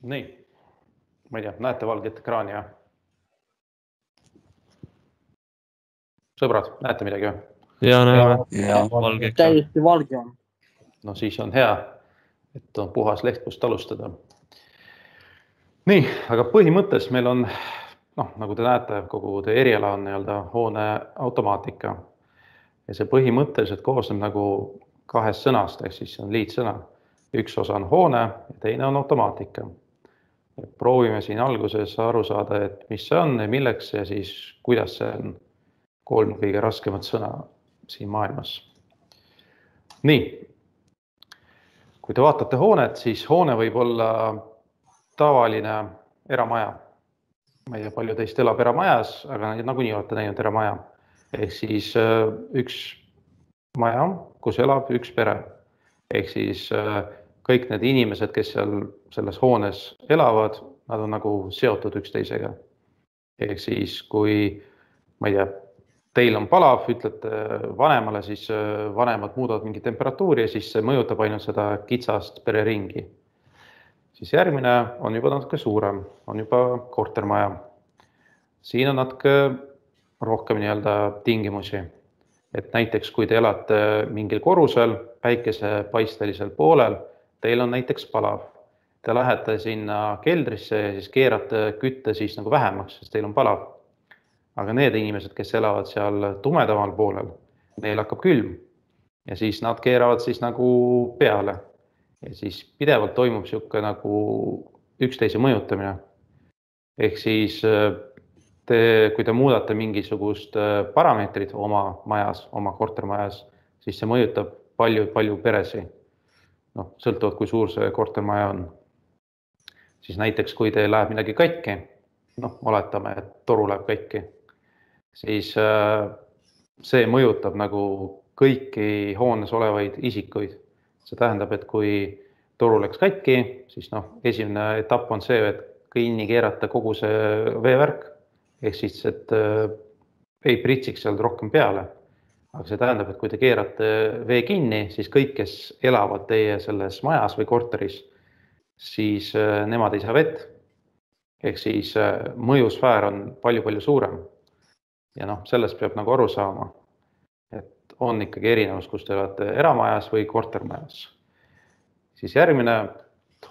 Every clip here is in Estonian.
Nii, ma ei tea, näete valget ekraani, jah? Sõbrad, näete midagi või? Ja näeme. Valge ekraan. Täiesti valge on. No siis on hea, et on puhas leht, kust alustada. Nii, aga põhimõttes meil on, nagu te näete, kogu teie eriala on hoone automaatika. Ja see põhimõtteliselt koosneb nagu kahest sõnast, ehk siis on liitsõna. Üks osa on hoone ja teine on automaatika. Proovime siin alguses aru saada, et mis see on ja milleks ja siis kuidas see on 3 kõige raskemat sõna siin maailmas. Nii, kui te vaatate hoonet, siis hoone võib olla tavaline eramaja. Ma ei tea, palju teist elab eramajas, aga nagunii olete näinud eramaja. Ehk siis üks maja, kus elab üks pere. Ehk siis kõik need inimesed, kes seal selles hoones elavad, nad on nagu seotud üksteisega. Ehk siis kui, ma ei tea, teil on palav, ütlete vanemale, siis vanemad muudavad mingi temperatuuri ja siis see mõjutab ainult seda kitsast pereringi. Siis järgmine on juba natuke suurem, on juba kortermaja. Siin on natuke rohkem tingimusi. Et näiteks kui te elate mingil korrusel, päikesepaistelisel poolel, teil on näiteks palav. Te lähete sinna keldrisse ja siis keerate kütte siis nagu vähemaks, sest teil on palav. Aga need inimesed, kes elavad seal tumedamal poolel, neil hakkab külm ja siis nad keeravad siis nagu peale. Ja siis pidevalt toimub siuke nagu üksteise mõjutamine. Ehk siis kui te muudate mingisugust parameetrit oma majas, oma kortermajas, siis see mõjutab palju peresi. Sõltuvalt, kui suur see kortermaja on. Siis näiteks, kui teil läheb midagi katki, oletame, et toru läheb katki, siis see mõjutab nagu kõiki hoones olevaid isikuid. See tähendab, et kui toru läks katki, siis esimene etapp on see, et kinni keerata kogu see veevärk, ehk siis, et ei pritsiks seal rohkem peale. Aga see tähendab, et kui te keerate vee kinni, siis kõik, kes elavad teie selles majas või korteris, siis nemad ei saa vett. Ehk siis mõjusfäär on palju suurem. Ja sellest peab nagu aru saama, et on ikkagi erinevus, kus te olete eramajas või kortermajas. Siis järgmine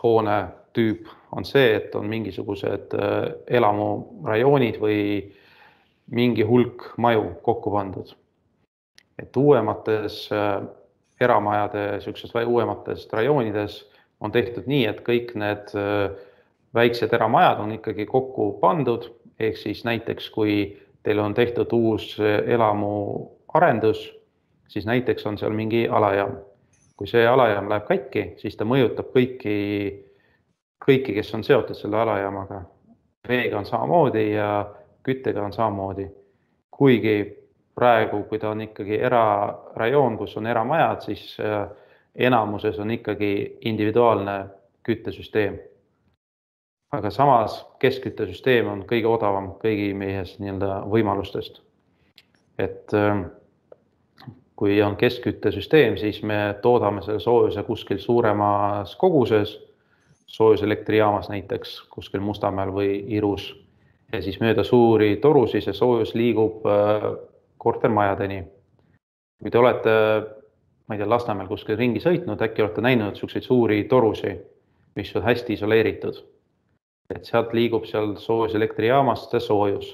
hoone tüüp on see, et on mingisugused elamurajoonid või mingi hulk maju kokku pandud. Et uuemates eramajade, uuemates rajoonides on tehtud nii, et kõik need väiksed eramajad on ikkagi kokku pandud, ehk siis näiteks kui teil on tehtud uus elamu arendus, siis näiteks on seal mingi alajaam. Kui see alajaam läheb katki, siis ta mõjutab kõiki, kes on seotud selle alajaamaga. Veega on samamoodi ja küttega on samamoodi. Kuigi praegu, kui ta on ikkagi erarajoon, kus on eramajad, siis enamuses on ikkagi individuaalne küttesüsteem. Aga samas keskküttesüsteem on kõige odavam kõigi meies võimalustest. Et kui on keskküttesüsteem, siis me toodame selle soojuse kuskil suuremas koguses, soojuselektriijaamas näiteks kuskil Mustamäel või Irus. Ja siis mööda suuri torusi see soojus liigub kortermajadeni. Kui te olete, ma ei tea, Lasnamäel kuskil ringi sõitnud, äkki olete näinud selliseid suuri torusi, mis on hästi isoleeritud. Et sealt liigub seal soojuselektrijaamast see soojus.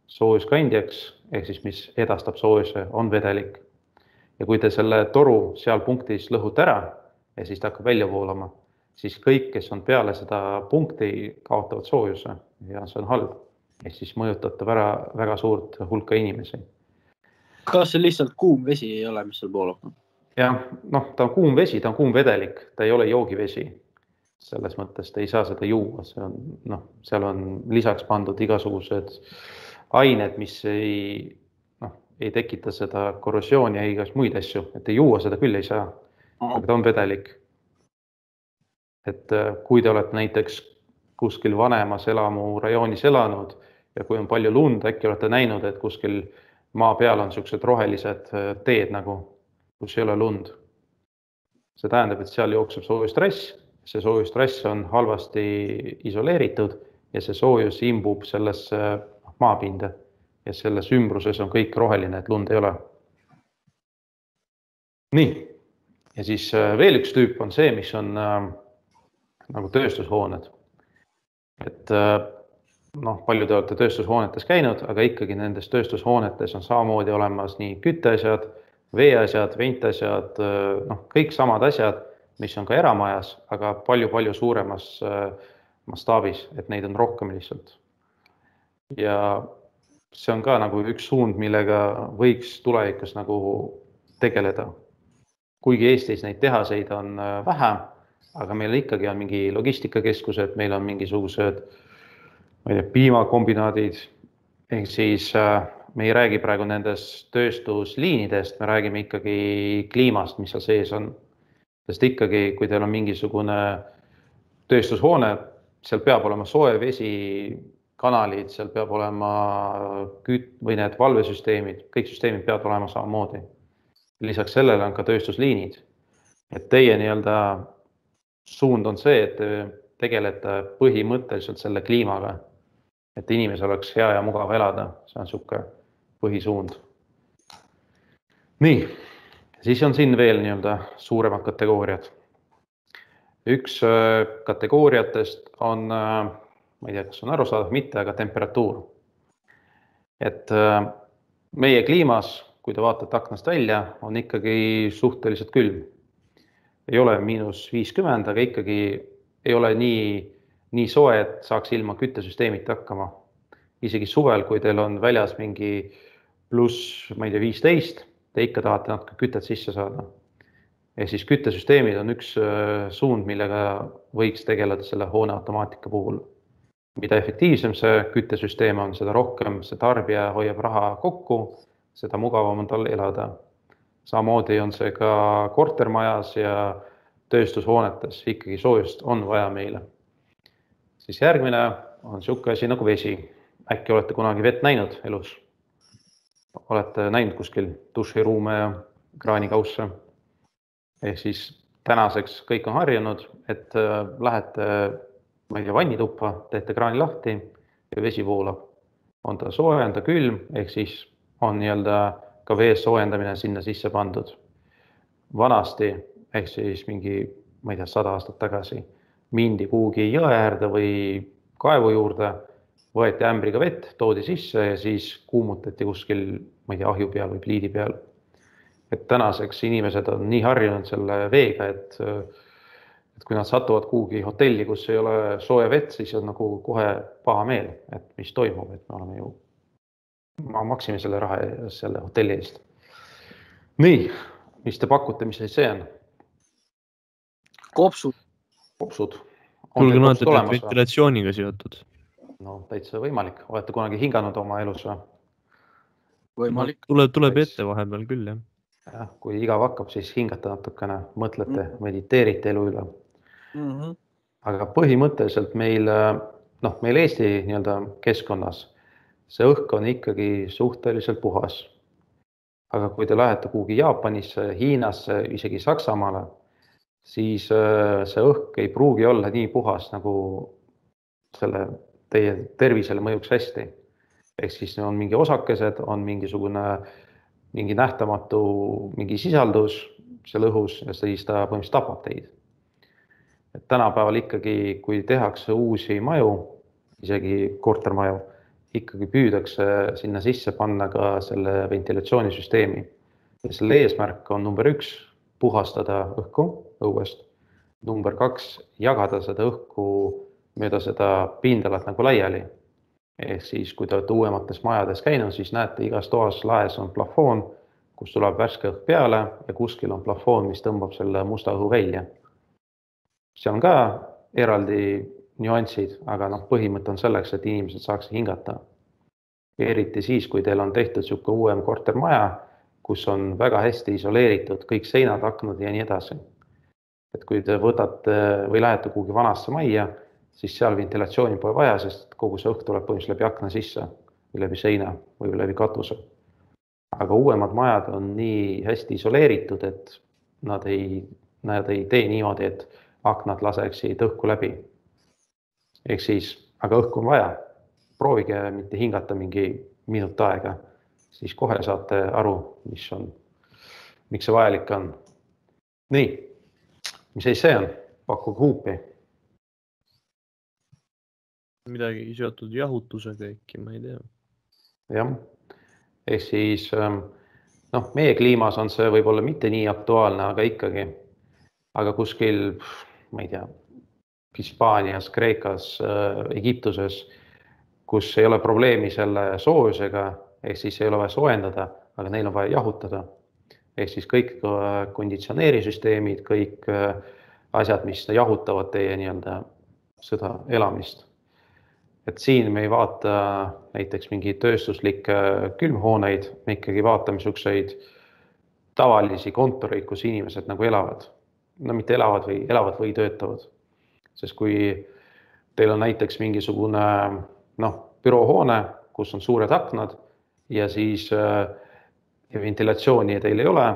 Soojuskandjaks, ehk siis mis edastab soojuse, on vedelik. Ja kui te selle toru seal punktis lõhute ära ja siis ta hakkab välja voolama, siis kõik, kes on peale seda punkti, kaotavad soojuse ja see on halb. Ehk siis mõjutab väga suurt hulka inimesi. Kas see lihtsalt kuum vesi ei ole, mis seal voolab? Jah, ta on kuum vesi, ta on kuum vedelik, ta ei ole joogivesi. Selles mõttes te ei saa seda juua, seal on lisaks pandud igasugused ained, mis ei tekita seda korrosiooni ja igast muid asju, et ei juua seda küll ei saa, aga ta on vedelik. Et kui te olete näiteks kuskil vanemas elamurajoonis elanud ja kui on palju lund, äkki olete näinud, et kuskil maa peal on sellised rohelised teed nagu, kus ei ole lund. See tähendab, et seal jookseb soojustrass see soojustrass on halvasti isoleeritud ja see soojus imbub sellesse maapinda ja selles ümbruses on kõik roheline, et lund ei ole. Nii, ja siis veel üks tüüp on see, mis on nagu tööstushooned. Et palju te olete tööstushoonetes käinud, aga ikkagi nendes tööstushoonetes on samamoodi olemas nii kütteasjad, veeasjad, ventiasjad, kõik samad asjad, mis on ka eramajas, aga palju suuremas mastaabis, et neid on rohkem lihtsalt. Ja see on ka nagu üks suund, millega võiks tulevikus nagu tegeleda. Kuigi Eestis neid tehaseid on vähe, aga meil ikkagi on mingi logistikakeskused, meil on mingisugused piimakombinaadid, ehk siis me ei räägi praegu nendest tööstusliinidest, me räägime ikkagi kliimast, mis seal sees on. Sest ikkagi, kui teil on mingisugune tööstushoone, seal peab olema soe vesi, kanalid, seal peab olema või need valvesüsteemid, kõik süsteemid peavad olema samamoodi. Lisaks sellele on ka tööstusliinid. Et teie nii-öelda suund on see, et te tegelete põhimõtteliselt selle kliimaga, et inimesel oleks hea ja mugav elada. See on suke põhisuund. Nii, siis on siin veel nii-öelda suuremad kategooriad. Üks kategooriatest on, ma ei tea, kas on arusaadav, mitte, aga temperatuur. Et meie kliimas, kui te vaatate aknast välja, on ikkagi suhteliselt külm. Ei ole -50, aga ikkagi ei ole nii soe, et saaks ilma küttesüsteemit hakkama. Isegi suvel, kui teil on väljas mingi pluss, ma ei tea, 15, te ikka tahate natuke kütet sisse saada. Ja siis küttesüsteemid on üks suund, millega võiks tegeleda selle hoone automaatika puhul. Mida efektiivsem see küttesüsteem on, seda rohkem see tarbija hoiab raha kokku, seda mugavam on tal elada. Samamoodi on see ka kortermajas ja tööstushoonetes, ikkagi soojust on vaja meile. Siis järgmine on siuke asi nagu vesi. Äkki olete kunagi vett näinud elus? Olete näinud kuskil duširuume ja kraanikausse? Ehk siis tänaseks kõik on harjunud, et lähete vannituppa, teete kraani lahti ja vesi voolab. On ta soe, on ta külm, ehk siis on nii-öelda ka vee soojendamine sinna sisse pandud. Vanasti, ehk siis mingi, ma ei tea, 100 aastat tagasi, mindi kuhugi jõe äärde või kaevu juurde, võeti ämbriga vett, toodi sisse ja siis kuumutati kuskil, ma ei tea, ahju peal või pliidi peal. Et tänaseks inimesed on nii harjunud selle veega, et kui nad satuvad kuhugi hotelli, kus ei ole sooja vett, siis on nagu kohe paha meel, et mis toimub, et me oleme ju, ma maksime selle raha selle hotelli eest. Nii, mis te pakute, mis see on? Kopsud. Kopsud. Kuulge näete, et ventilatsiooniga seotud. No, täitsa võimalik. Olete kunagi hinganud oma elus või? Võimalik. Tuleb ette vahepeal küll, jah. Ja, kui igav hakkab, siis hingate natukene, mõtlete, mediteerite elu üle. Aga põhimõtteliselt meil Eesti nii-öelda keskkonnas see õhk on ikkagi suhteliselt puhas. Aga kui te lähete kuhugi Jaapanisse, Hiinasse, isegi Saksamaale, siis see õhk ei pruugi olla nii puhas, nagu selle teie tervisele mõjuks hästi. Ehk siis on mingi osakesed, on mingi nähtamatu mingi sisaldus seal õhus ja siis ta põhimõtteliselt tapab teid. Et tänapäeval ikkagi, kui tehakse uusi maju, isegi kortermaju, ikkagi püüdakse sinna sisse panna ka selle ventilatsioonisüsteemi. Ja selle eesmärk on number 1, puhastada õhku õuest. Number 2, jagada seda õhku mööda seda pindalat nagu laiali. Ehk siis, kui te olete uuemates majades käinud, siis näete, igas toas laes on plafoon, kus tuleb värske õhk peale ja kuskil on plafoon, mis tõmbab selle musta õhu välja. See on ka eraldi nüansid, aga põhimõte on selleks, et inimesed saaks hingata. Eriti siis, kui teil on tehtud siuke uuem kortermaja, kus on väga hästi isoleeritud kõik seinad, aknad ja nii edasi. Et kui te võtate või lähete kuhugi vanasse majja, siis seal ventilatsiooni pole vaja, sest kogu see õhk tuleb põhimõtteliselt läbi akna sisse või läbi seina või läbi katuse. Aga uuemad majad on nii hästi isoleeritud, et nad ei tee niimoodi, et aknad laseksid õhku läbi. Ehk siis, aga õhku on vaja. Proovige mitte hingata mingi minut aega, siis kohe saate aru, miks see vajalik on. Nii, mis see on? Pakkuge huupi. Midagi seotud jahutusega äkki, ma ei tea. Jah, ehk siis meie kliimas on see võib-olla mitte nii aktuaalne, aga ikkagi. Aga kuskil, ma ei tea, Hispaanias, Kreekas, Egiptuses, kus ei ole probleemi selle soojusega, ehk siis ei ole vaja soojendada, aga neil on vaja jahutada. Ehk siis kõik konditsioneerisüsteemid, kõik asjad, mis jahutavad teie seda elamist. Et siin me ei vaata näiteks mingi tööstuslikke külmhooneid, me ikkagi vaatame niisuguseid tavalisi kontoreid, kus inimesed nagu elavad. No mitte elavad või töötavad. Sest kui teil on näiteks mingisugune büroohoone, kus on suured aknad ja siis ventilatsiooni teil ei ole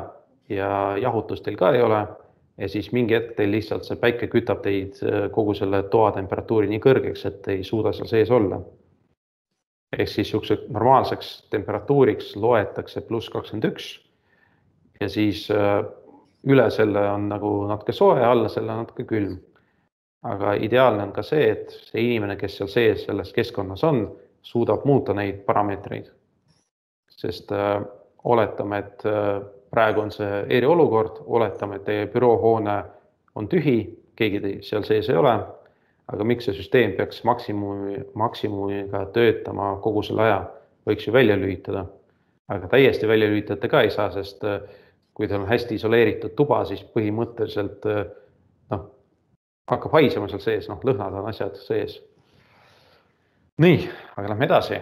ja jahutust teil ka ei ole, ja siis mingi hetk teil lihtsalt see päike kütab teid kogu selle toa temperatuuri nii kõrgeks, et ei suuda seal sees olla. Ehk siis normaalseks temperatuuriks loetakse +21 ja siis üle selle on nagu natuke soe, alla selle on natuke külm. Aga ideaalne on ka see, et see inimene, kes seal sees selles keskkonnas on, suudab muuta neid parameetreid. Sest oletame, et praegu on see eriolukord, oletame, et teie büroohoone on tühi, keegi seal sees ei ole, aga miks see süsteem peaks maksimumiga töötama kogu selle aja, võiks ju välja lülitada. Aga täiesti välja lülitada ka ei saa, sest kui teil on hästi isoleeritud tuba, siis põhimõtteliselt hakkab haisema seal sees, lõhnad on asjad sees. Nii, aga lähme edasi.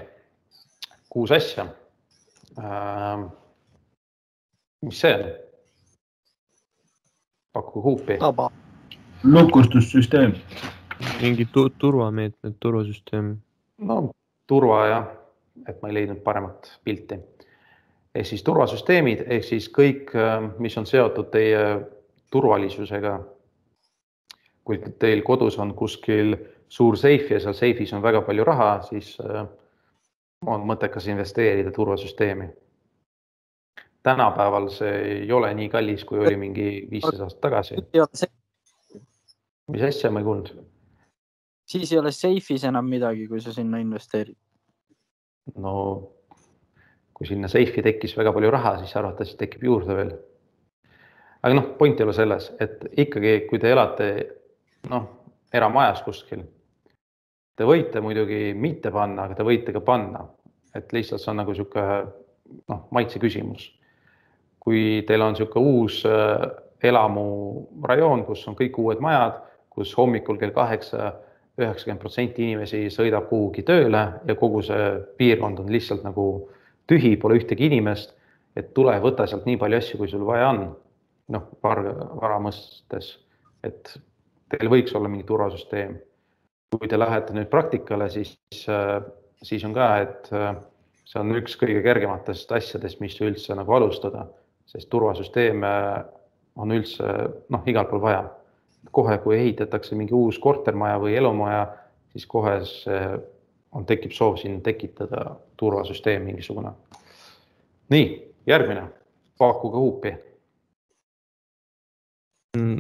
6 asja. Mis see on? Pakku huupi. Lukustussüsteem. Mingi turvameetmed, turvasüsteem. No turva jah, et ma ei leidnud paremat pilti. Ehk siis turvasüsteemid, ehk siis kõik, mis on seotud teie turvalisusega. Kui teil kodus on kuskil suur seif ja seal seifis on väga palju raha, siis on mõttekas investeerida turvasüsteemi. Tänapäeval see ei ole nii kallis, kui oli mingi 15 aastat tagasi. Mis asja ma ei kuulnud? Siis ei ole seifis enam midagi, kui sa sinna investeerid. No, kui sinna seifi tekkis väga palju raha, siis arvatavasti tekib juurde veel. Aga point ei ole selles, et ikkagi, kui te elate eramajas kuskil, te võite muidugi mitte panna, aga te võite ka panna. Et lihtsalt see on nagu siuke maitse küsimus. Kui teil on siuke uus elamurajoon, kus on kõik uued majad, kus hommikul kell 8-90% inimesi sõidab kuhugi tööle ja kogu see piirkond on lihtsalt nagu tühi, pole ühtegi inimest, et tule võta sealt nii palju asju, kui sul vaja on. Vara mõistes, et teil võiks olla mingi turvasüsteem. Kui te lähete nüüd praktikale, siis on ka, et see on üks kõige kergematest asjadest, mis üldse nagu alustada, sest turvasüsteeme on üldse igal pool vaja. Kohe, kui ehitatakse mingi uus kortermaja või elumaja, siis kohe tekib soov siin tekitada turvasüsteem mingisugune. Nii, järgmine. Pakkuge huupi.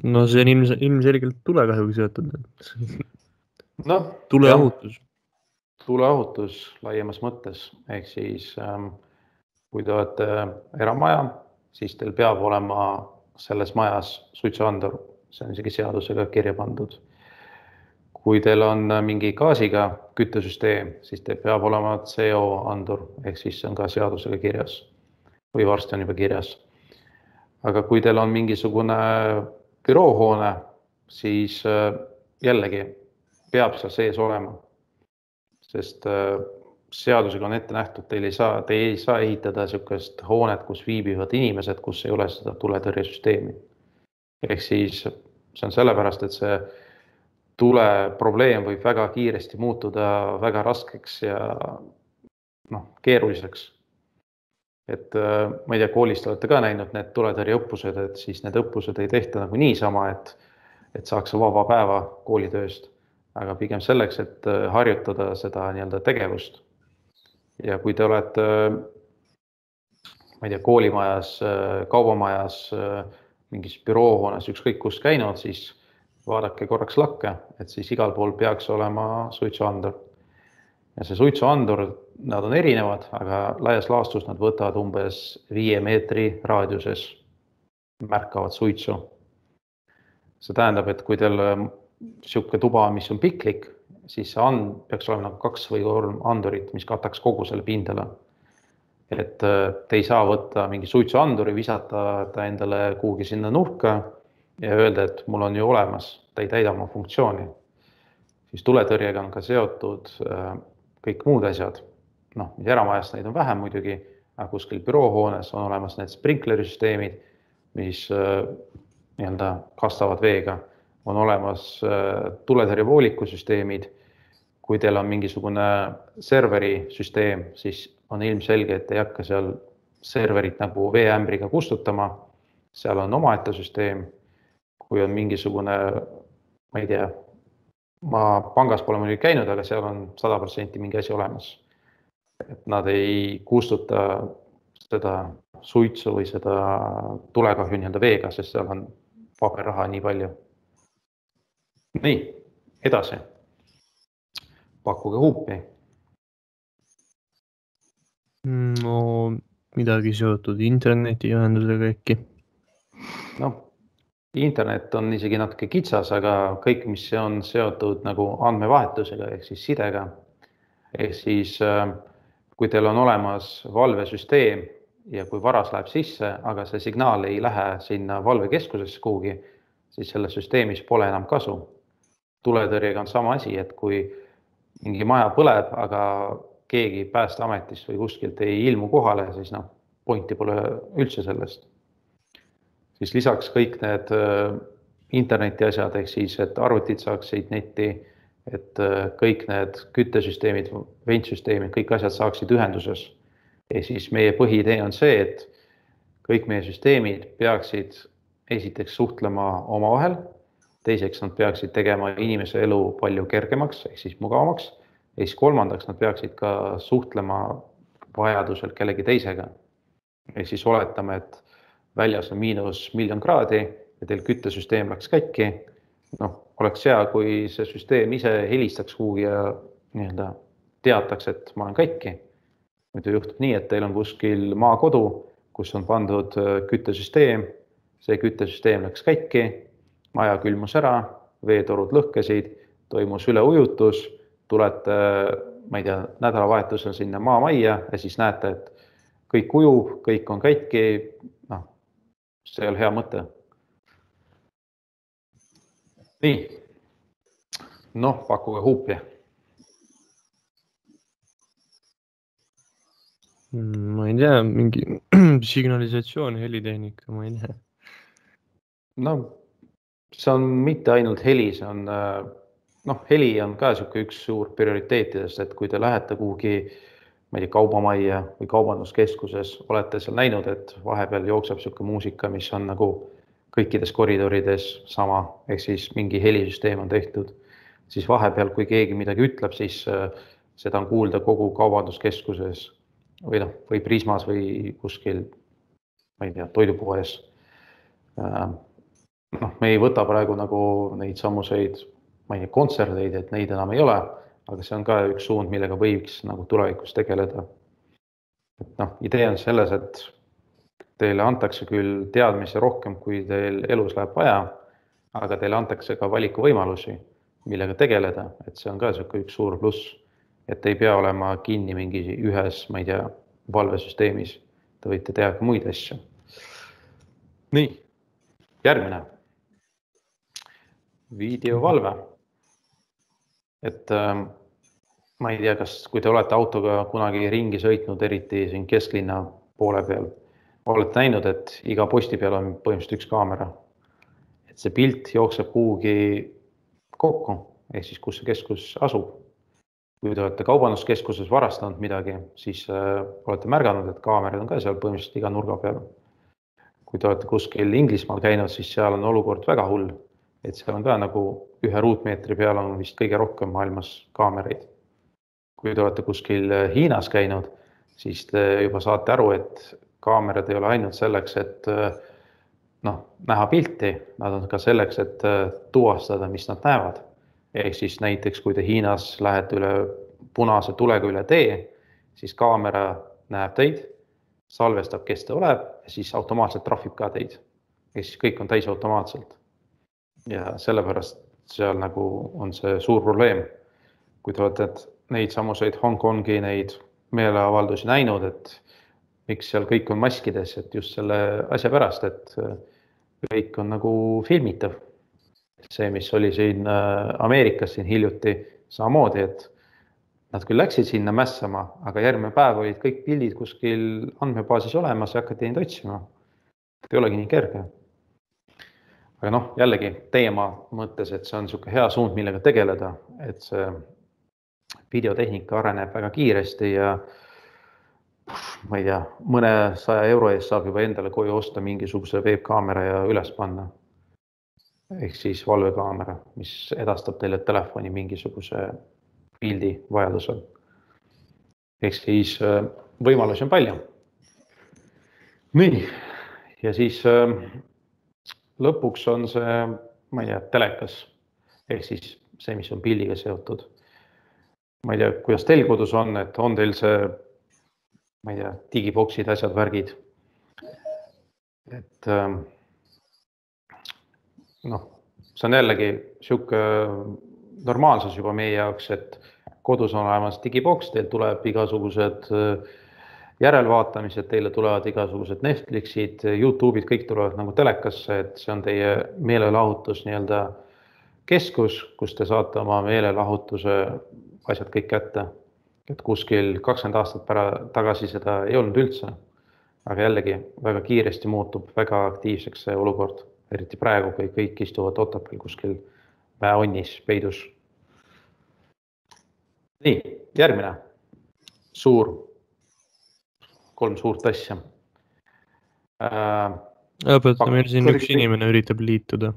No see on ilmselgelt tulekahjuga seotud. Tuleohutus. Tuleohutus laiemas mõttes. Ehk siis, kui te olete eramaja, siis teil peab olema selles majas suitsuandur. See on isegi seadusega kirja pandud. Kui teil on mingi gaasiga küttesüsteem, siis teil peab olema CO-andur, ehk siis see on ka seadusega kirjas või varsti on juba kirjas. Aga kui teil on mingisugune büroohoone, siis jällegi peab seal sees olema, sest seadusega on ette nähtud, te ei saa ehitada niisugust hoonet, kus viibivad inimesed, kus ei ole seda tuletõrjesüsteemi. Ehk siis see on sellepärast, et see tuleprobleem võib väga kiiresti muutuda väga raskeks ja keeruliseks. Et ma ei tea, koolist olete ka näinud need tuletõrjeõppused, et siis need õppused ei tehta nagu niisama, et et saaks vaba päeva koolitööst, aga pigem selleks, et harjutada seda nii-öelda tegevust. Ja kui te olete, ma ei tea, koolimajas, kaubamajas, mingis büroohoones, ükskõik kus käinud, siis vaadake korraks lakke, et siis igal pool peaks olema suitsuandur. Ja see suitsuandur, nad on erinevad, aga laias laastus nad võtavad umbes 5 meetri raadiuses märkavad suitsu. See tähendab, et kui teil siuke tuba, mis on piklik, siis see peaks olema nagu 2 või 3 andurit, mis kataks kogu selle pindala. Et te ei saa võtta mingi suitsuanduri, visata ta endale kuhugi sinna nurka ja öelda, et mul on ju olemas, ta ei täida oma funktsiooni. Siis tuletõrjega on ka seotud kõik muud asjad. Noh, mis eramajast neid on vähem muidugi, aga kuskil büroohoones on olemas need sprinklerisüsteemid, mis nii-öelda kastavad veega. On olemas tuletõrjevoolikusüsteemid. Kui teil on mingisugune serveri süsteem, siis on ilmselge, et ei hakka seal serverit nagu veeämbriga kustutama. Seal on omaette süsteem. Kui on mingisugune, ma ei tea, ma pangas pole muidugi käinud, aga seal on 100% mingi asi olemas. Et nad ei kustuta seda suitsu või seda tulekahju nii-öelda veega, sest seal on paberraha nii palju. Nii, edasi. Pakkuge huupi. No midagi seotud internetiühendusega äkki. No, internet on isegi natuke kitsas, aga kõik, mis on seotud nagu andmevahetusega ehk siis sidega. Ehk siis kui teil on olemas valvesüsteem ja kui varas läheb sisse, aga see signaal ei lähe sinna valvekeskusesse kuhugi, siis selle süsteemis pole enam kasu. Tuletõrjega on sama asi, et kui mingi maja põleb, aga keegi päästeametist või kuskilt ei ilmu kohale, siis pointi pole üldse sellest. Siis lisaks kõik need interneti asjad, ehk siis, et arvutid saaksid netti, et kõik need küttesüsteemid, ventsüsteemid, kõik asjad saaksid ühenduses. Ja siis meie põhiidee on see, et kõik meie süsteemid peaksid esiteks suhtlema omavahel, teiseks nad peaksid tegema inimese elu palju kergemaks, ehk siis mugavamaks, ja siis kolmandaks nad peaksid ka suhtlema vajadusel kellegi teisega. Ehk siis oletame, et väljas on -1,000,000 kraadi ja teil küttesüsteem läks kätki. Oleks hea, kui see süsteem ise helistaks kuhugi ja nii-öelda teataks, et ma olen kätki. Muidu juhtub nii, et teil on kuskil maakodu, kus on pandud küttesüsteem, see küttesüsteem läks kätki, maja külmus ära, veetorud lõhkesid, toimus üleujutus, tulete, ma ei tea, nädalavahetusel sinna maamajja ja siis näete, et kõik ujub, kõik on kätki, see ei ole hea mõte. Nii, pakkuge huupi. Ma ei tea, mingi signalisatsioon, helitehnika, ma ei tea. See on mitte ainult heli, see on, heli on ka üks suur prioriteetidest, et kui te lähete kuhugi, ma ei tea, kaubamajja või kaubanduskeskuses, olete seal näinud, et vahepeal jookseb siuke muusika, mis on nagu kõikides koridorides sama, ehk siis mingi helisüsteem on tehtud, siis vahepeal, kui keegi midagi ütleb, siis seda on kuulda kogu kaubanduskeskuses või Prismas või kuskil, ma ei tea, toidupoes. Me ei võta praegu nagu neid samuseid, ma ei tea, kontserdeid, et neid enam ei ole, aga see on ka üks suund, millega võiks nagu tulevikus tegeleda. Idee on selles, et teile antakse küll teadmisi rohkem, kui teil elus läheb vaja, aga teile antakse ka valikuvõimalusi, millega tegeleda, et see on ka üks suur pluss, et ei pea olema kinni mingi ühes, ma ei tea, valvesüsteemis. Te võite teha ka muid asju. Nii, järgmine. Videovalve. Et ma ei tea, kas kui te olete autoga kunagi ringi sõitnud, eriti siin kesklinna poole peal, olete näinud, et iga posti peal on põhimõtteliselt üks kaamera. Et see pilt jookseb kuhugi kokku, ehk siis kus see keskus asub. Kui te olete kaubanduskeskuses varastanud midagi, siis olete märganud, et kaamerad on ka seal põhimõtteliselt iga nurga peal. Kui te olete kuskil Inglismaal käinud, siis seal on olukord väga hull. et seal on ka nagu 1 ruutmeetri peal on vist kõige rohkem maailmas kaameraid. Kui te olete kuskil Hiinas käinud, siis te juba saate aru, et kaamerad ei ole ainult selleks, et näha pilti, nad on ka selleks, et tuvastada, mis nad näevad. Ehk siis näiteks, kui te Hiinas lähete üle punase tulega üle tee, siis kaamera näeb teid, salvestab, kes te oleb, ja siis automaatselt trahvib ka teid. Ja siis kõik on täis automaatselt. Ja sellepärast seal nagu on see suur probleem. Kui te olete neid samuseid Hongkongi neid meeleavaldusi näinud, et miks seal kõik on maskides, et just selle asja pärast, et kõik on nagu filmitav. See, mis oli siin Ameerikas siin hiljuti samamoodi, et nad küll läksid sinna mässama, aga järgmine päev olid kõik pildid kuskil andmebaasis olemas ja hakati neid otsima. Ei olegi nii kerge. Aga jällegi teema mõttes, et see on niisugune hea suund, millega tegeleda, et see videotehnika areneb väga kiiresti ja ma ei tea, mõne 100 euro eest saab juba endale koju osta mingisuguse webkaamera ja üles panna. Ehk siis valvekaamera, mis edastab teile telefoni mingisuguse pildi vajadusel. Ehk siis võimalusi on palju. Nii, ja siis lõpuks on see, ma ei tea, telekas. Ehk siis see, mis on pildiga seotud. Ma ei tea, kuidas teil kodus on, et on teil see, ma ei tea, digiboksid, asjad, värgid. Et see on jällegi sihuke normaalsus juba meie jaoks, et kodus on olemas digiboks, teil tuleb igasugused järelvaatamised, teile tulevad igasugused Netflixid, YouTube'id, kõik tulevad nagu telekasse, et see on teie meelelahutus nii-öelda keskus, kus te saate oma meelelahutuse asjad kõik kätte. Et kuskil 20 aastat tagasi seda ei olnud üldse, aga jällegi väga kiiresti muutub väga aktiivseks see olukord, eriti praegu, kui kõik istuvad Otepääl kuskil mäeonnis, peidus. Nii, järgmine kolm suurt asja. Õpeta, meil siin üks inimene üritab liituda.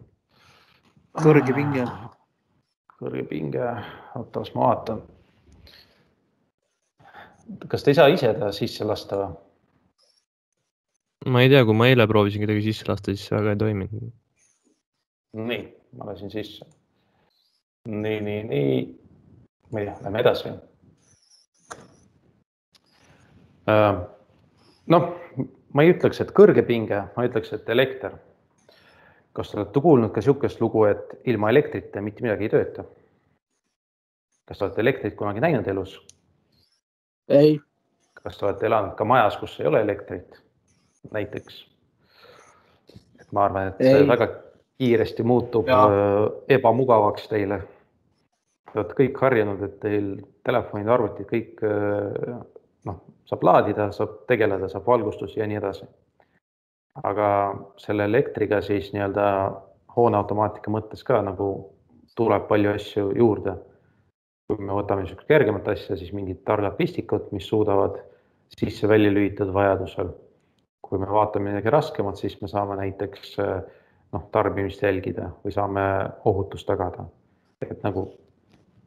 Kõrge pinge. Kõrge pinge, ootas ma vaatan. Kas te ei saa ise ta sisse lasta või? Ma ei tea, kui ma eile proovisin kedagi sisse lasta, siis väga ei toiminud. Nii, ma lasin sisse. Nii. Ma ei tea, lähme edasi. Ma ei ütleks, et kõrge pinge, ma ütleks, et elekter. Kas te olete kuulnud ka sihukest lugu, et ilma elektrita mitte midagi ei tööta? Kas te olete elektrit kunagi näinud elus? Ei. Kas te olete elanud ka majas, kus ei ole elektrit? Näiteks. Et ma arvan, et see väga kiiresti muutub ebamugavaks teile. Te olete kõik harjunud, et teil telefonid, arvutid, kõik saab laadida, saab tegeleda, saab valgustus ja nii edasi. Aga selle elektriga siis nii-öelda hooneautomaatika mõttes ka nagu tuleb palju asju juurde. Kui me võtame kergemat asja, siis mingid targad pistikud, mis suudavad sisse välja lülitada vajadusel. Kui me vaatame midagi raskemat, siis me saame näiteks tarbimist jälgida või saame ohutust tagada. Et nagu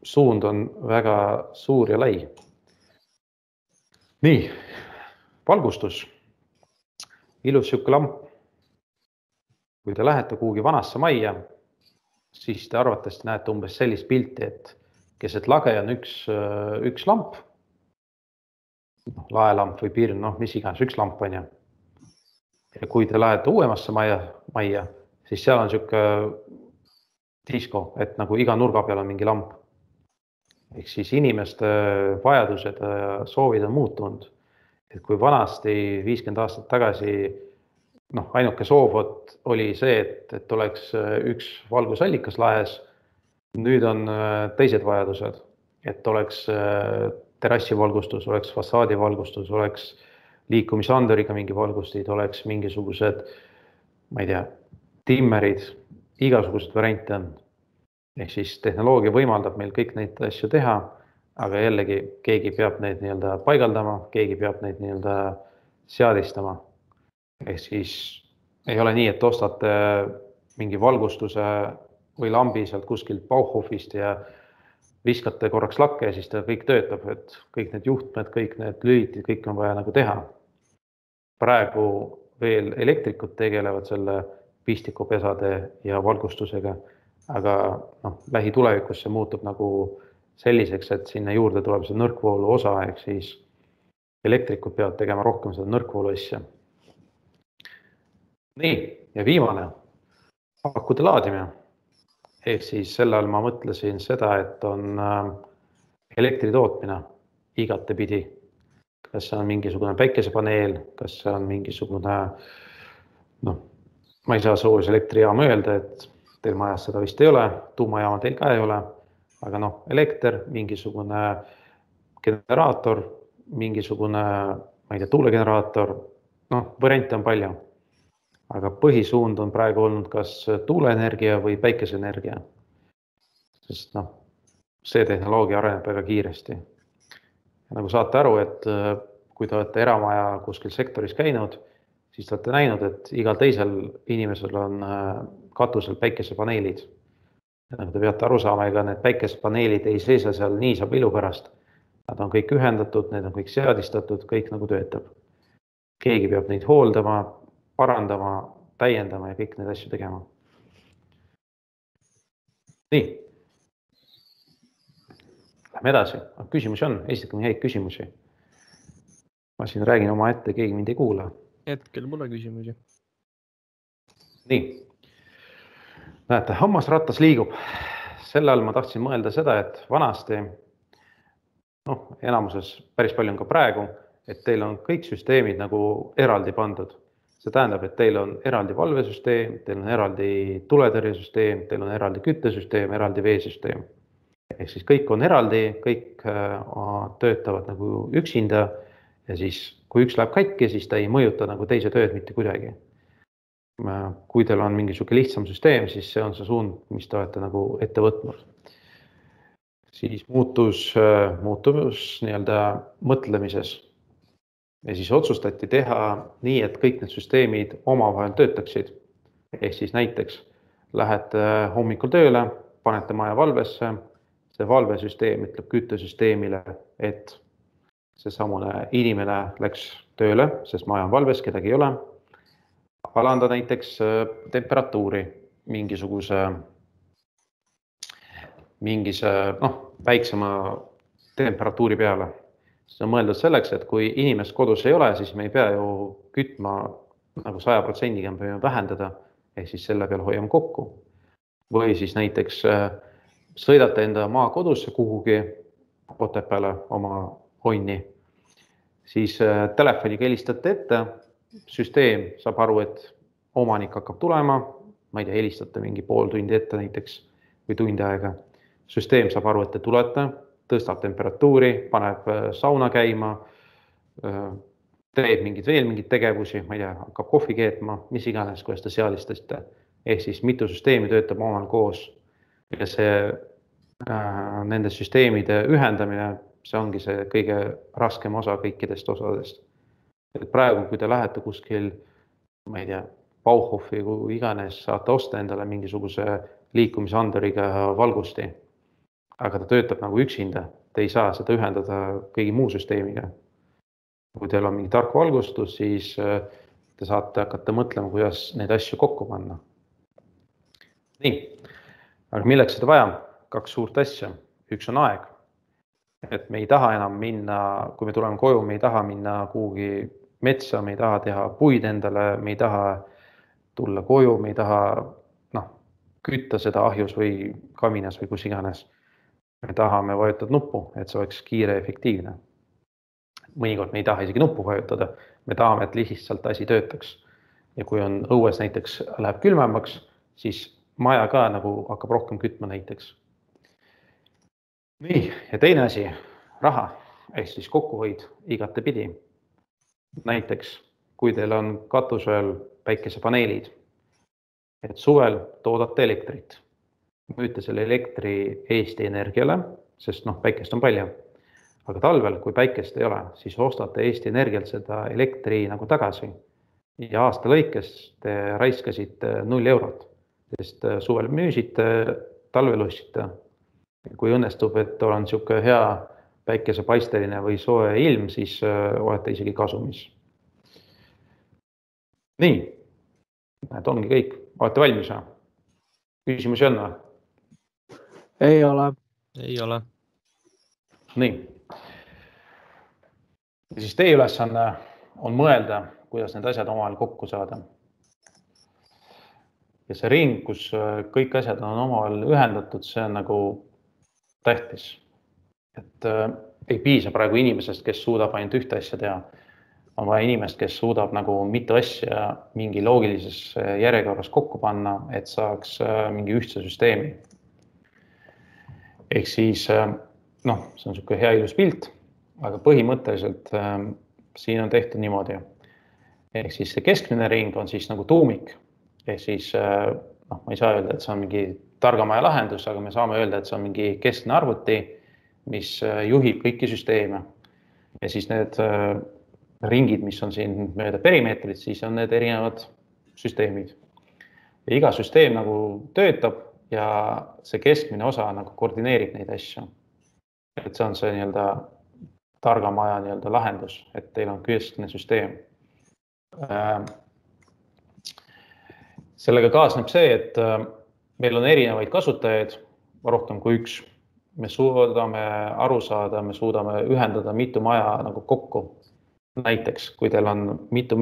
suund on väga suur ja lai. Nii, valgustus. Ilus sihuke lamp. Kui te lähete kuhugi vanasse majja, siis te arvatavasti näete umbes sellist pilti, et keset lage on üks lamp, laelamp või pirn, mis iganes, üks lamp on ja. Ja kui te lähete uuemasse majja, siis seal on sihuke disko, et nagu iga nurga peal on mingi lamp. Ehk siis inimeste vajadused ja soovid on muutunud. Et kui vanasti 50 aastat tagasi ainuke soov oli see, et oleks üks valgusallikas laes, nüüd on teised vajadused, et oleks terrassivalgustus, oleks fassaadivalgustus, oleks liikumisanduriga mingi valgustid, oleks mingisugused, ma ei tea, timmerid, igasugused variante on. Ehk siis tehnoloogia võimaldab meil kõik neid asju teha, aga jällegi keegi peab neid nii-öelda paigaldama, keegi peab neid nii-öelda seadistama. Ehk siis ei ole nii, et ostate mingi valgustuse või lambi sealt kuskilt Bauhofist ja viskate korraks lakke ja siis ta kõik töötab, et kõik need juhtmed, kõik need lülitid, kõik on vaja nagu teha. Praegu veel elektrikud tegelevad selle pistikupesade ja valgustusega, aga lähitulevikus see muutub nagu selliseks, et sinna juurde tuleb see nõrkvoolu osa, ehk siis elektrikud peavad tegema rohkem seda nõrkvoolu asja. Nii, ja viimane, akude laadimine. Ehk siis selle all ma mõtlesin seda, et on elektri tootmine igatepidi. Kas see on mingisugune päikesepaneel, kas see on mingisugune, ma ei saa soojus elektrijaama öelda, et teil majas seda vist ei ole, tuumajaama teil ka ei ole, aga elekter, mingisugune generaator, mingisugune, ma ei tea, tuulegeneraator, variante on palju. Aga põhisuund on praegu olnud kas tuuleenergia või päikeseenergia, sest see tehnoloogia areneb väga kiiresti. Ja nagu saate aru, et kui te olete eramaja kuskil sektoris käinud, siis te olete näinud, et igal teisel inimesel on katusel päikesepaneelid. Ja nagu te peate aru saama, ega need päikesepaneelid ei seisa seal niisama ilu pärast. Nad on kõik ühendatud, need on kõik seadistatud, kõik nagu töötab. Keegi peab neid hooldama, parandama, täiendama ja kõik need asju tegema. Nii. Lähme edasi. Küsimusi on, esitage häid küsimusi. Ma siin räägin oma ette, keegi mind ei kuula. Hetkel pole küsimusi. Nii. Näete, hammasrattas liigub. Selle all ma tahtsin mõelda seda, et vanasti, enamuses päris palju on ka praegu, et teil on kõik süsteemid nagu eraldi pandud. See tähendab, et teil on eraldi valvesüsteem, teil on eraldi tuletõrjesüsteem, teil on eraldi küttesüsteem, eraldi veesüsteem. Ehk siis kõik on eraldi, kõik töötavad nagu üksinda ja siis kui üks läheb katki, siis ta ei mõjuta nagu teise tööd mitte kuidagi. Kui teil on mingisugune lihtsam süsteem, siis see on see suund, mis te olete nagu ette võtnud. Siis muutus nii-öelda mõtlemises. Ja siis otsustati teha nii, et kõik need süsteemid omavahel töötaksid. Ehk siis näiteks lähete hommikul tööle, panete maja valvesse, see valvesüsteem ütleb küttesüsteemile, et see samune inimene läks tööle, sest maja on valves, kedagi ei ole. Alanda näiteks temperatuuri mingisuguse väiksema temperatuuri peale. See on mõeldud selleks, et kui inimest kodus ei ole, siis me ei pea ju kütma nagu 100%-ga, me peame vähendada, ehk siis selle peale hoiame kokku. Või siis näiteks sõidate enda maakodusse kuhugi Otepääle oma honni, siis telefoniga helistate ette, süsteem saab aru, et omanik hakkab tulema, ma ei tea, helistate mingi pool tundi ette näiteks või tundi aega. Süsteem saab aru, et te tulete, tõstab temperatuuri, paneb sauna käima, teeb veel mingid tegevusi, ma ei tea, hakkab kohvi keetma, mis iganes, kuidas te seadistasite. Ehk siis mitu süsteemi töötab omal koos ja nende süsteemide ühendamine, see ongi see kõige raskem osa kõikidest osadest. Et praegu, kui te lähete kuskil, ma ei tea, Bauhofi kui iganes, saate osta endale mingisuguse liikumisanduriga valgusti. Aga ta töötab nagu üksinda, te ei saa seda ühendada kõigi muu süsteemiga. Kui teil on mingi tark valgustus, siis te saate hakata mõtlema, kuidas neid asju kokku panna. Nii, aga milleks seda vaja? 2 suurt asja. Üks on aeg. Et me ei taha enam minna, kui me tuleme koju, me ei taha minna kuhugi metsa, me ei taha teha puid endale, me ei taha tulla koju, me ei taha kütta seda ahjus või kaminas või kus iganes. Me tahame vajutada nuppu, et see oleks kiire ja efektiivne. Mõnikord me ei taha isegi nuppu vajutada, me tahame, et lihtsalt asi töötaks. Ja kui on õues näiteks läheb külmemaks, siis maja ka nagu hakkab rohkem kütma näiteks. Nii, ja teine asi, raha, ehk siis kokkuhoid igatepidi. Näiteks, kui teil on katusel päikesepaneelid, et suvel toodate elektrit. Müüte selle elektri Eesti Energiale, sest päikest on palju. Aga talvel, kui päikest ei ole, siis ostate Eesti Energialt seda elektri nagu tagasi. Ja aasta lõikes te raiskasite 0 eurot. sest suvel müüsite, talvel ostsite. Kui õnnestub, et on niisugune hea päikesepaisteline või soe ilm, siis olete isegi kasumis. Nii, et ongi kõik. Olete valmis? Küsimusi on? Ei ole. Ei ole. Nii. Ja siis teie ülesanne on mõelda, kuidas need asjad omavahel kokku saada. Ja see ring, kus kõik asjad on omavahel ühendatud, see on nagu tähtis. Et ei piisa praegu inimesest, kes suudab ainult ühte asja teha. On vaja inimest, kes suudab nagu mitu asja mingi loogilises järjekorras kokku panna, et saaks mingi ühtse süsteemi. Ehk siis, see on niisugune hea ilus pilt, aga põhimõtteliselt siin on tehtud niimoodi. Ehk siis see keskmine ring on siis nagu tuumik. Ehk siis, ma ei saa öelda, et see on mingi targamaja lahendus, aga me saame öelda, et see on mingi keskne arvuti, mis juhib kõiki süsteeme. Ja siis need ringid, mis on siin mööda perimeetrit, siis on need erinevad süsteemid. Ja iga süsteem nagu töötab ja see keskmine osa nagu koordineerib neid asju. Et see on see nii-öelda targamaja nii-öelda lahendus, et teil on keskne süsteem. Sellega kaasneb see, et meil on erinevaid kasutajaid, rohkem kui üks. Me suudame aru saada, me suudame ühendada mitu maja nagu kokku. Näiteks, kui teil on mitu,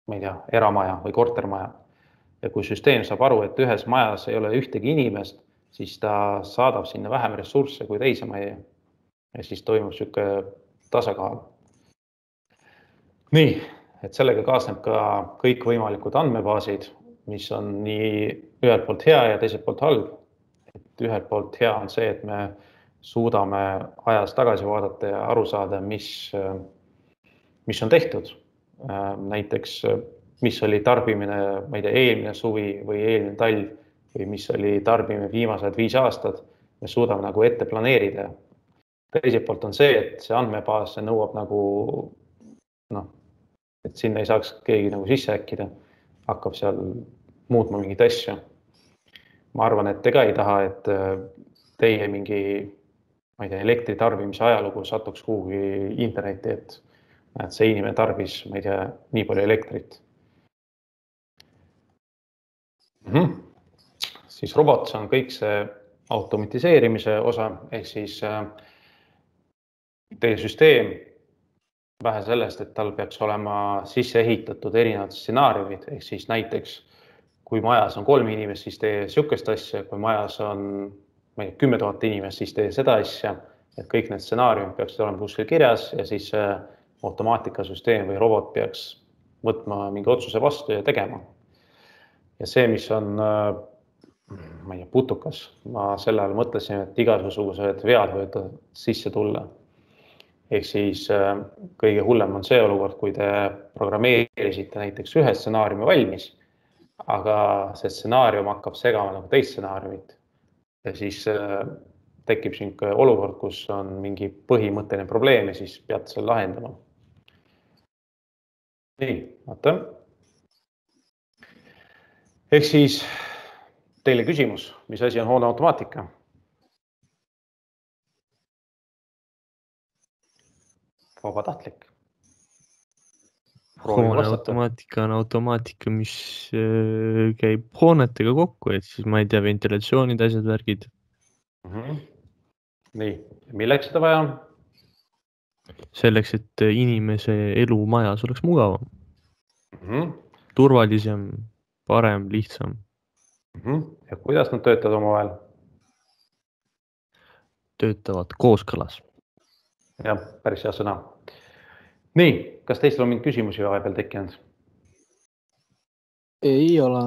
ma ei tea, eramaja või kortermaja. Ja kui süsteem saab aru, et ühes majas ei ole ühtegi inimest, siis ta saadab sinna vähem ressursse kui teise maja. Ja siis toimub niisugune tasakaal. Nii, et sellega kaasneb ka kõik võimalikud andmebaasid, mis on nii ühelt poolt hea ja teiselt poolt halb. Et ühelt poolt hea on see, et me suudame ajas tagasi vaadata ja aru saada, mis on tehtud. Näiteks, mis oli tarbimine, ma ei tea, eelmine suvi või eelmine talv või mis oli tarbimine viimased 5 aastat, me suudame nagu ette planeerida. Teiselt poolt on see, et see andmebaas nõuab nagu, et sinna ei saaks keegi nagu sisse äkkida, hakkab seal muutma mingit asja. Ma arvan, et te ka ei taha, et teie mingi, ma ei tea, elektritarbimise ajalugu satuks kuhugi interneti, et see inimene tarbis, ma ei tea, nii palju elektrit. Siis robot on kõik see automatiseerimise osa, ehk siis teie süsteem vähe sellest, et tal peaks olema sisse ehitatud erinevad stsenaariumid, ehk siis näiteks, kui majas on 3 inimest, siis tee niisugust asja, kui majas on 10 000 inimest, siis tee seda asja, et kõik need stsenaariumid peaksid olema kuskil kirjas ja siis automaatikasüsteem või robot peaks võtma mingi otsuse vastu ja tegema. Ja see, mis on, ma ei tea, putukas, ma sel ajal mõtlesin, et igasugused vead võivad sisse tulla. Ehk siis kõige hullem on see olukord, kui te programmeerisite näiteks ühe stsenaariumi valmis, aga see stsenaarium hakkab segama nagu teist stsenaariumit. Ja siis tekib selline olukord, kus on mingi põhimõtteline probleem ja siis peate selle lahendama. Nii, vaata. Ehk siis teile küsimus, mis asi on hoone automaatika? Vabatahtlik. Hoone automaatika on automaatika, mis käib hoonetega kokku, et siis ma ei tea, ventilatsioonid, asjad, värgid. Nii, milleks seda vaja on? Selleks, et inimese elu majas oleks mugavam. Turvalisem, parem, lihtsam. Ja kuidas nad töötavad omavahel? Töötavad kooskõlas. Jah, päris hea sõna. Nii, kas teistel on mingi küsimusi vahepeal tekkinud? Ei ole.